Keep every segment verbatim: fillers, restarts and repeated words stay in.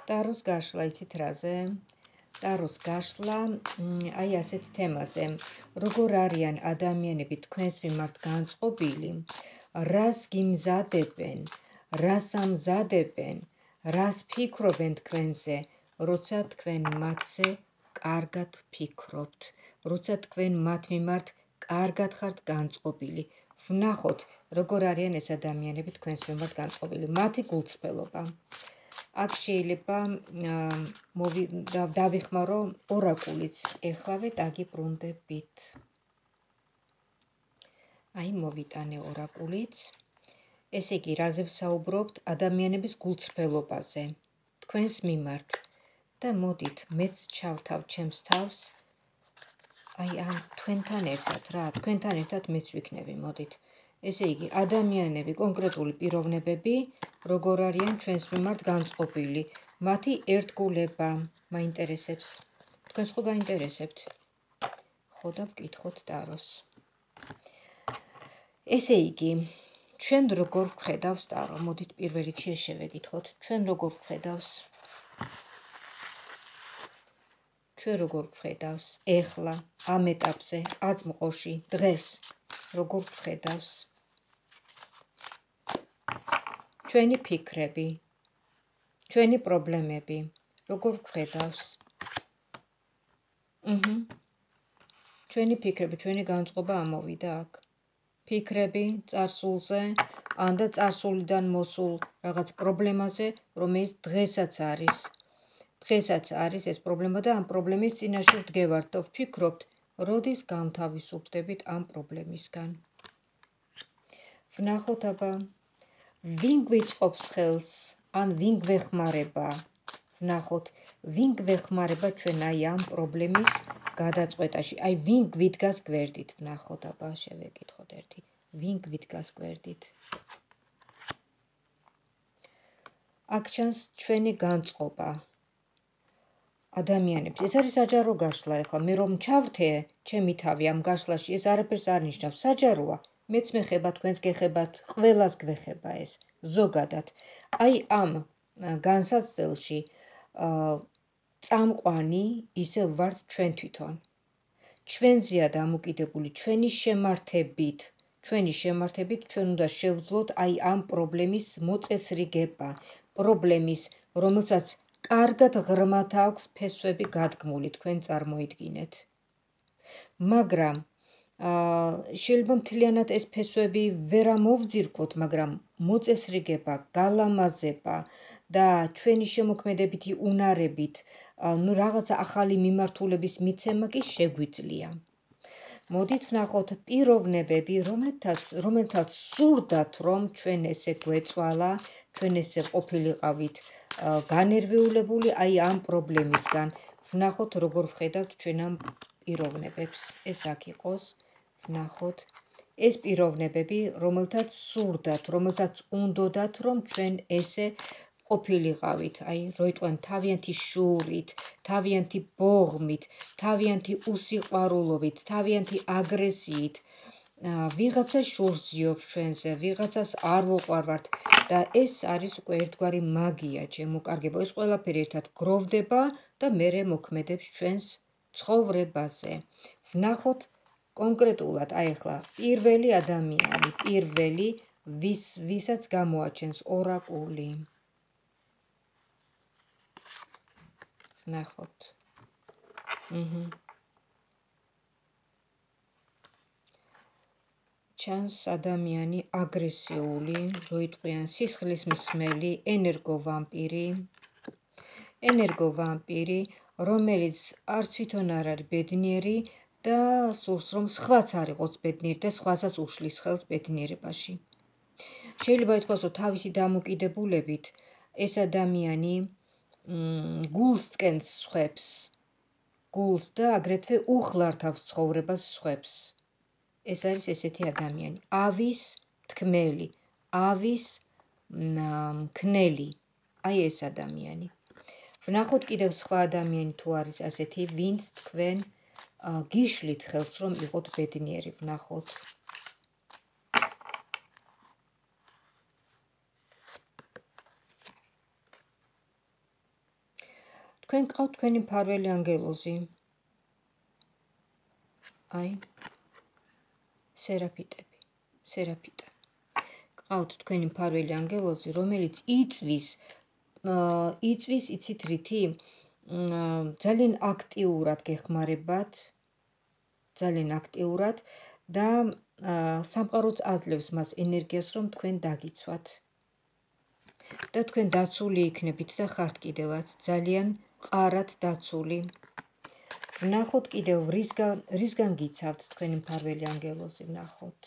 ტაროს გაშლა იცით რაზე? ტაროს გაშლა აი ასეთ თემაზე. როგორ არიან ადამიანები თქვენს მიმართ განწყობილი, რას გიმზადებენ, რას ამზადებენ, რას ფიქრობენ თქვენზე, როცა თქვენ მათზე კარგად ფიქრობთ, როცა თქვენ მათ მიმართ კარგად ხართ განწყობილი. ვნახოთ, როგორ არიან ეს ადამიანები თქვენს მიმართ განწყობილი. მათი გულწრფელობა. აქ შეიძლება დავიხმარო ორაკულიც. ეხლავე დაგიბრუნდებით. აი მოვიტანე ორაკულიც. ესე იგი, რაზე ვსაუბრობთ? ადამიანების გულწრფელობაზე. თქვენს მიმართ. და მოდით, მეც ჩავთავ ჩემს თავს. აი ამ თქვენთან ერთად რა, თქვენთან ერთად მეც ვიქნები, მოდით. ესე იგი, ადამიანები, კონკრეტული პიროვნებები, როგორ არიან ჩვენს მიმართ განწყობილი, მათი ერთგულება მაინტერესებს. თქვენს ხო გაინტერესებთ? ხო და ვკითხოთ ტაროს. ესე იგი, ჩვენ როგორ ვხედავს ტარო? მოდით პირველ რიგში შევეკითხოთ, ჩვენ როგორ ვხედავს? ჩვენ როგორ ვხედავს? ეხლა, ამ ეტაპზე, აწმყოში, დღეს, როგორ ვხედავს? ჩვენი ფიქრები, ჩვენი პრობლემები, როგორ ვხედავს? აჰა. ჩვენი ფიქრები, ჩვენი განწყობა ამოვიდა აქ. ფიქრები წარსულზე, ან და წარსულიდან მოსულ რაღაც პრობლემაზე, რომელიც დღესაც არის. დღესაც არის ეს პრობლემა და ამ პრობლემის წინაშე ვდგევართ და ვფიქრობთ, როდის გამთავისუფლდებით ამ პრობლემისგან. ვნახოთ აბა, ვინ გვიწყობს ხელს, ან ვინ გვეხმარება. ვნახოთ, ვინ გვეხმარება ჩვენ აი ამ პრობლემის გადაწყვეტაში. აი ვინ გვიდგას გვერდით. ვნახოთ აბა, შევეკითხოთ ერთი. ვინ გვიდგას გვერდით. აქ ჩანს ჩვენი განწყობა. ადამიანებს. ეს არის საჯარო გაშლა ახლა. მე რომ ჩავრთე ჩემი თავი ამ გაშლაში, ეს არაფერს არ ნიშნავს. საჯაროა. მეც მეხება, თქვენს გეხებათ, ყველას გვეხება ეს. ზოგადად. აი ამ განსაცდელში წამყვანი ისე ვართ ჩვენ თვითონ. ჩვენზეა დამოკიდებული ჩვენი შემართებით. ჩვენი შემართებით ჩვენ უნდა შევძლოთ აი ამ პრობლემის მოწესრიგება. პრობლემის, რომელსაც კარგად ღრმად აქვს ფესვები გადგმული, თქვენ წარმოიდგინეთ. მაგრამ შეიძლება მთლიანად ეს ფესვები ვერ ამოვძირკვოთ, მაგრამ მოწესრიგება, გალამაზება და ჩვენი შემოქმედებითი უნარებით, ნუ რაღაცა ახალი მიმართულების მიცემა კი შეგვიძლია. მოდით ვნახოთ პიროვნებები, რომელთაც სურდათ, რომ ჩვენ ესე გვეწვალა, ჩვენ ესე ყოფილიყავით განერვიულებული აი ამ პრობლემისგან. ვნახოთ, როგორ ვხედავთ ჩვენ ამ პიროვნებებს. ეს აქ იყოს. ვნახოთ. ეს პიროვნებები, რომელთაც სურდათ, რომელთაც უნდოდათ, რომ ჩვენ ესე ყოფილიყავით. აი, როიტყვენ თავიანთი შურით, თავიანთი ბოღმით, თავიანთი უსიყვარულობით, თავიანთი აგრესიით. ვიღაცა შურს ძიობს ჩვენზე, ვიღაცას არ ვუყვარვართ და ეს არის უკვე ერთგვარი მაგია, ჩემო-კარგებო. ეს ყველაფერი ერთად გროვდება და მერე მოქმედებს ჩვენს ცხოვრებაზე. ვნახოთ კონკრეტულად, აი ახლა პირველი ადამიანი, პირველი, ვის ვისაც გამოაჩენს ორაკული. ვნახოთ. აჰა. ჩანს ადამიანი აგრესიული, როიტყვიან სისხლისმსმელი, ენერგოვამპირი. ენერგოვამპირი, რომელიც არც თვითონ არ არის ბედნიერი და სურს რომ სხვაც არ იყოს ბედნიერი და სხვასაც უშლის ხელს ბედნიერებაში. შეიძლება ითქვას, რომ თავისი დამოკიდებულებით ეს ადამიანი გულს ткენს სხვებს, გულს და აგრეთვე უხლართავს ცხოვრებას სხვებს. ეს არის ესეთი ადამიანი. ავის თქმელი, ავის მქნელი. აი ეს ადამიანი. ვნახოთ კიდევ სხვა ადამიანი თუ არის ასეთი, ვინც თქვენ გიშლით ხელს რომ იყოთ ბედნიერი. ვნახოთ. თქვენ გყავთ თქვენი მფარველი ანგელოზი. აი, სერაფიტები, სერაფიტა. გყავთ თქვენი მფარველი ანგელოზი, რომელიც იწვის, იწვის, იცით რითი? ძალიან აქტიურად გეხმარებათ, ძალიან აქტიურად და სამყაროც აძლევს მას ენერგიას, რომ თქვენ დაგიცვათ. და თქვენ დაცული იქნებით და ხართ კიდევაც ძალიან მყარად დაცული. ვნახოთ კიდევ რისგან რისგან გიცავთ თქვენი მფარველი ანგელოზი, ვნახოთ.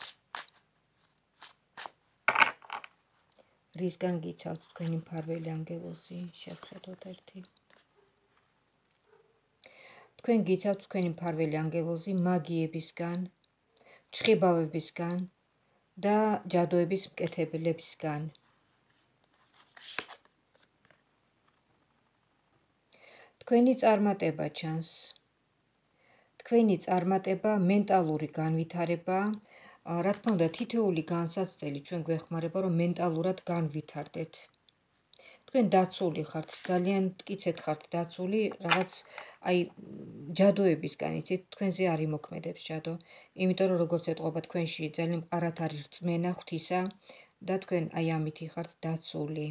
რისგან გიცავთ თქვენი მფარველი ანგელოზი, შევხედოთ ერთი. თქვენ გიცავთ თქვენი მფარველი ანგელოზი მაგიებისგან, ჩხიბავებისგან და ჯადოების მკეთებლებისგან. თქვენი წარმატება ჩანს. თქვენი წარმატება, მენტალური განვითარება, რა თქმა უნდა, თითოეული განსაცდელი ჩვენ გვეხმარება, რომ მენტალურად განვითარდეთ. თქვენ დაცული ხართ, ძალიან მტკიცედ ხართ დაცული, რაღაც აი ჯადოებისგან, იცით, თქვენზე არ იმოქმედებს ჯადო, იმიტომ რომ როგორც ეტყობა თქვენში ძალიან მყარად არის რწმენა ღვთისა და თქვენ აი ამით ხართ დაცული.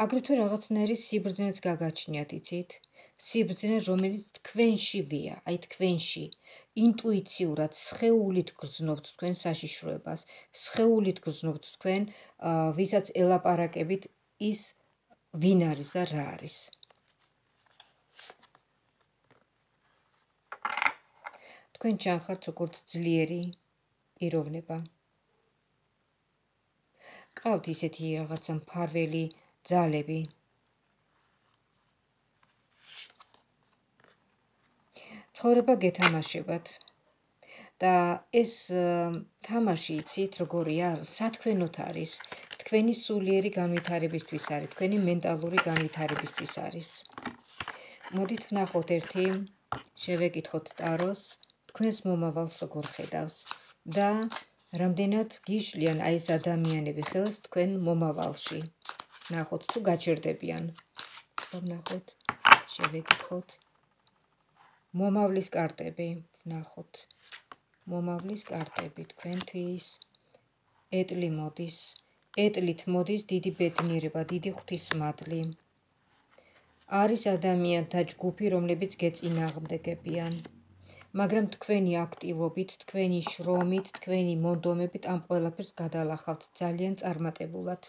აგრეთვე რაღაცნაირი სიბრძნეც გაგაჩნიათ, იცით? სიბრძნე, რომელიც თქვენშივეა, აი თქვენში, ინტუიციურად, სხეულით გრძნობთ თქვენ საშიშროებას, სხეულით გრძნობთ თქვენ, ვისაც ელაპარაკებით ის ვინ არის და რა არის. თქვენ ჩანხართ როგორც ძლიერი პიროვნება. ყავთ ისეთი რაღაცა მფარველი ძალები. ცხოვრება გეთამაშებათ და ეს თამაში, იცით, როგორია, სათქვენოთ არის, თქვენი სულიერი განვითარებისთვის არის, თქვენი მენტალური განვითარებისთვის არის. მოდით ვნახოთ ერთი, შევეკითხოთ ტაროს, თქვენს მომავალს როგორ ხედავს და რამდენად გიშლიან აი ეს ადამიანები ხელს თქვენ მომავალში. ვნახოთ თუ გაჩერდებიან. ვნახოთ, შევეკითხოთ. მომავლის კარტები, ვნახოთ. მომავლის კარტები თქვენთვის. ეტლი მოდის. ეტლით მოდის დიდი ბედნიერება, დიდი ღვთისმადლი. არის ადამიანთა ჯგუფი, რომლებიც გეწინააღმდეგებიან. მაგრამ თქვენი აქტივობით, თქვენი შრომით, თქვენი მონდომებით ამ ყველაფერს გადალახავთ ძალიან წარმატებულად.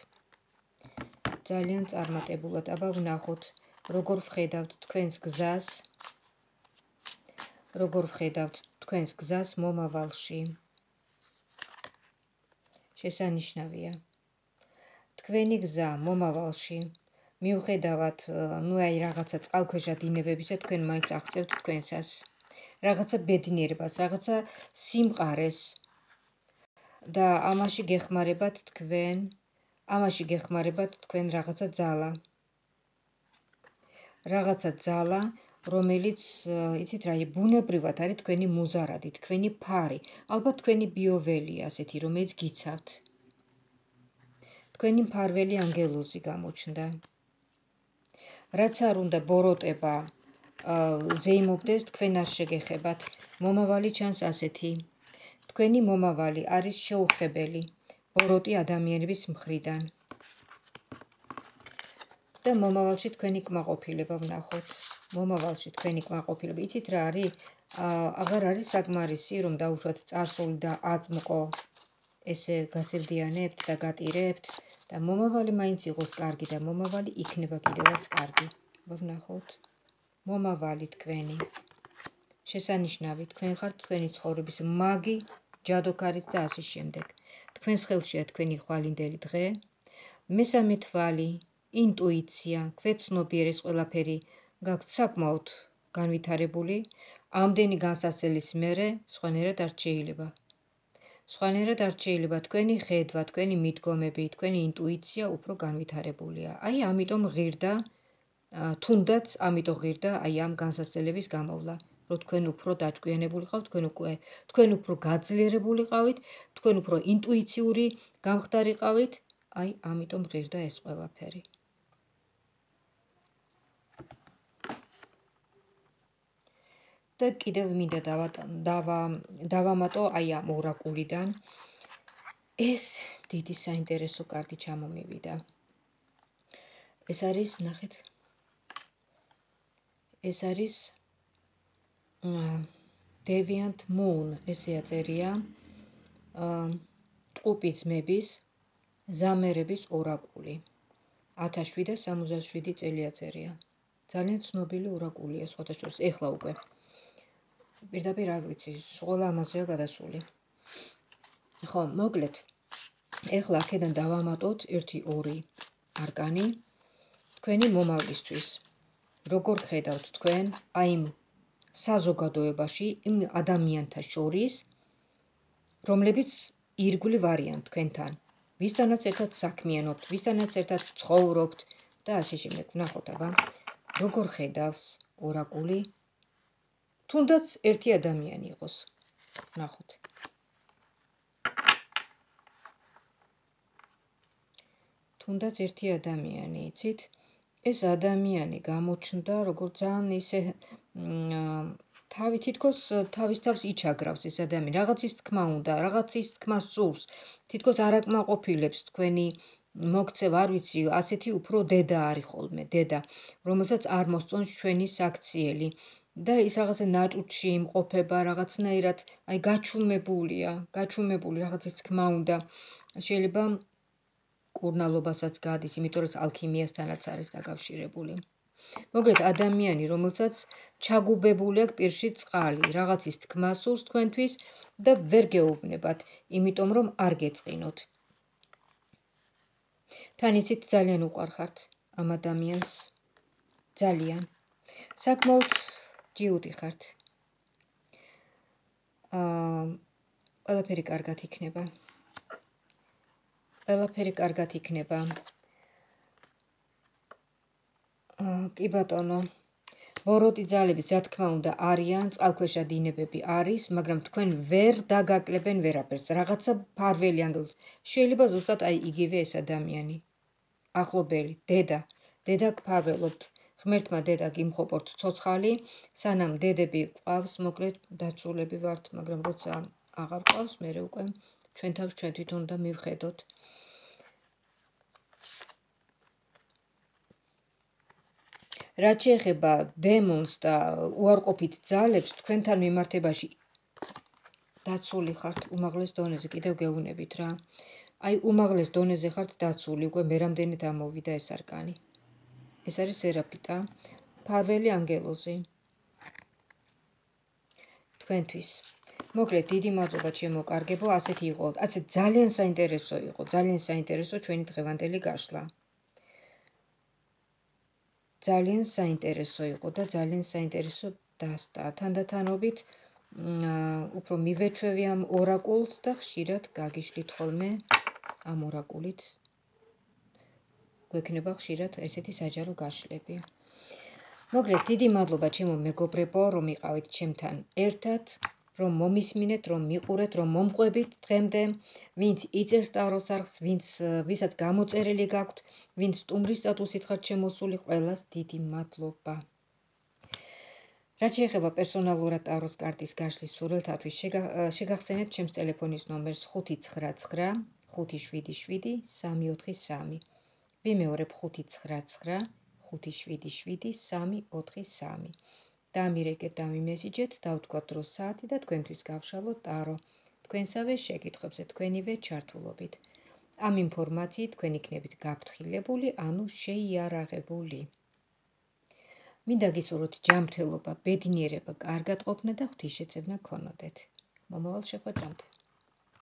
ძალიან წარმატებულად. აბა ვნახოთ, როგორ ვხედავთ თქვენს გზას. როგორ ვხედავთ თქვენს გზას მომავალში. შესანიშნავია. თქვენი გზა მომავალში, მიუხედავად, ნუ აი რაღაცა წყალქვეშა დინებებისა, თქვენ მაინც აღწევთ თქვენსას. რაღაცა ბედნიერებას, რაღაცა სიმყარეს და ამაში გეხმარებათ თქვენ, ამაში გეხმარებათ თქვენ რაღაცა ძალა. რაღაცა ძალა, რომელიც, იცით რა, ბუნებრივად არის თქვენი მუზარადი, თქვენი ფარი, ალბათ თქვენი ბიოველია ასეთი, რომელიც გიცავთ. თქვენი მფარველი ანგელოზი გამოჩნდა. რაც არ უნდა ბოროტება ზეიმობდეს, თქვენ არ შეგეხებათ. მომავალი ჩანს ასეთი. თქვენი მომავალი არის შეუხებელი ბოროტი ადამიანების მხრიდან. და მომავალში თქვენი კმაყოფილება ვნახოთ. მომავალში თქვენი კმაყოფილება. იცით რა არის? აღარ არის საკმარისი, რომ დაუშვათ წარსული და აწმყო ესე გასევდიანებთ და გატირებთ და მომავალი მაინც იყოს კარგი და მომავალი იქნება კიდევაც კარგი. ვნახოთ. მომავალი თქვენი. შესანიშნავი, თქვენ ხართ თქვენი ცხოვრების მაგი, ჯადოქარიც და ასე შემდეგ. თქვენს ხელშია თქვენი ხვალინდელი დღე. მესამე თვალი, ინტუიცია, ქვეცნობიერ ეს ყველაფერი გაქვთ საკმაოდ განვითარებული. ამდენი განსაცდელის მერე სხვანაირად არ შეიძლება. სხვანაირად არ შეიძლება თქვენი ხედვა, თქვენი მიდგომები, თქვენი ინტუიცია უფრო განვითარებულია. აი ამიტომ ღირდა, თუნდაც ამიტომ ღირდა აი ამ განსაცდელების გამოვლა, რომ თქვენ უფრო დაჭკვიანებულიყავთ, თქვენ უკვე თქვენ უფრო გაძლიერებულიყავით, თქვენ უფრო ინტუიციური გამხდარიყავით, აი ამიტომ ღირდა ეს ყველაფერი. და კიდევ მინდა დავამატო აი ამ ორაკულიდან. ეს დიდი საინტერესო კარტი ჩამომივიდა. ეს არის, ნახეთ. ეს არის Deviant Moon, ესე აწერია. ტყუპი ძმების ზამერების ორაკული. ათას შვიდსა სამოცდაშვიდი წელი აწერია. ძალიან ცნობილი ორაკულია, სხვათა შორის ეხლა უკვე. პირდაპირ არ ვიცი, ყველა ამაზეა გადასული. ხო, მოკლედ. ეხლა აქედან დავამატოთ ერთი ორი არკანი თქვენი მომავლისთვის. როგორ ხედავთ თქვენ აი იმ საზოგადოებაში, იმ ადამიანთა შორის, რომლებიც ირგვლივ არიან თქვენთან. ვისთანაც ერთად საქმიანობთ, ვისთანაც ერთად ცხოვრობთ და ასე შემდეგ. ვნახოთ აბა, როგორ ხედავს ორაკული? თუნდაც ერთი ადამიანი იყოს. ვნახოთ. თუნდაც ერთი ადამიანი, იცით? ეს ადამიანი გამოჩნდა, როგორც ძალიან ისე თავი თითქოს თავის თავს იჩაგრავს ეს ადამიანი. რაღაცის თქმა უნდა, რაღაცის თქმა სურს. თითქოს არ აკმაყოფილებს თქვენი მოგცევ, არ ვიცი, ასეთი უფრო დედა არის ხოლმე, დედა, რომელსაც არ მოსწონს ჩვენი საქციელი. და ის რაღაცა ნაჭუჭში იმყოფება, რაღაცნაირად, აი გაჩუმებულია, გაჩუმებული რაღაცის თქმა უნდა. შეიძლება კურნალობასაც გადის, იმიტომ რომ ალქიმიასთანაც არის დაკავშირებული. მოკლედ ადამიანი, რომელსაც ჩაგუბებული აქვს პირში წყალი, რაღაცის თქმა სურს თქვენთვის და ვერ გეუბნებათ, იმიტომ რომ არ გეწყინოთ. თან იცით ძალიან უყვარხართ ამ ადამიანს. ძალიან. საკმაოდ ჯიუტი ხართ. აა, ყველაფერი კარგად იქნება. ყველაფერი კარგად იქნება. კი ბატონო. ბოროტი ძალები, რა თქმა უნდა, არიან, წყალქვეშა დინებები არის, მაგრამ თქვენ ვერ დაგაკლებენ ვერაფერს. რაღაცა ფარველი ანგელს. შეიძლება ზუსტად აი იგივე ეს ადამიანი. ახლობელი, დედა, დედა გფარველობთ. ღმერთმა დედა გიმხოპორთ ცოცხალი, სანამ დედები ყავს, მოკლედ დაცულები ვართ, მაგრამ როცა აღარ ყავს, მერე უკვე ჩვენ თავს ჩვენ თვითონ უნდა მივხედოთ. რაც შეეხება დემონს და უარყოფით ძალებს, თქვენთან მიმართებაში დაცული ხართ უმაღლეს დონეზე, კიდევ გეუბნებით რა. აი უმაღლეს დონეზე ხართ დაცული, უკვე მერამდენით ამოვიდა ეს არკანი. ეს არის სერაფიტა, ფარველი ანგელოზი. თქვენთვის. მოკლედ, დიდი მადლობა ჩემო კარგებო, ასეთი იყო, ასე ძალიან საინტერესო იყო, ძალიან საინტერესო ჩვენი დღევანდელი გაშლა. ძალიან საინტერესო იყო და ძალიან საინტერესო დასტა. თანდათანობით უფრო მივეჩვევი ამ ორაკულს და ხშირად გაგიშლით ხოლმე ამ ორაკულით. გვექნება ხშირად ესეთი საჯარო გაშლები. მოკლედ, დიდი მადლობა ჩემო მეგობრებო, რომ იყავით ჩემთან ერთად, რომ მომისმინეთ, რომ მიყურეთ, რომ მომყვებით დღემდე, ვინც იწერს ტაროს არხს, ვინც ვისაც გამოწერილი გაქვთ, ვინც სტუმრის სტატუსით ხართ შემოსული, ყველას დიდი მადლობა. რაც შეეხება პერსონალურად ტაროს კარტის გაშლის სურვილთათვის, შეგახსენებთ ჩემს ტელეფონის ნომერს ხუთი ცხრა ცხრა ხუთი შვიდი შვიდი სამი ოთხი სამი. ვიმეორებ ხუთი ცხრა ცხრა ხუთი შვიდი შვიდი სამი ოთხი სამი. დამირეკეთ, დამიმესიჯეთ, დავთქვათ დრო საათი და თქვენთვის გავშალოთ ტარო. თქვენსავე შეკითხვებზე თქვენივე ჩართულობით. ამ ინფორმაციით თქვენ იქნებით გაფრთხილებული, ანუ შეიარაღებული. მინდა გისურვოთ ჯანმრთელობა, ბედნიერება, კარგად ყოფნა და ღვთისშეწევნა გქონოდეთ. მომავალ შეხვედრამდე.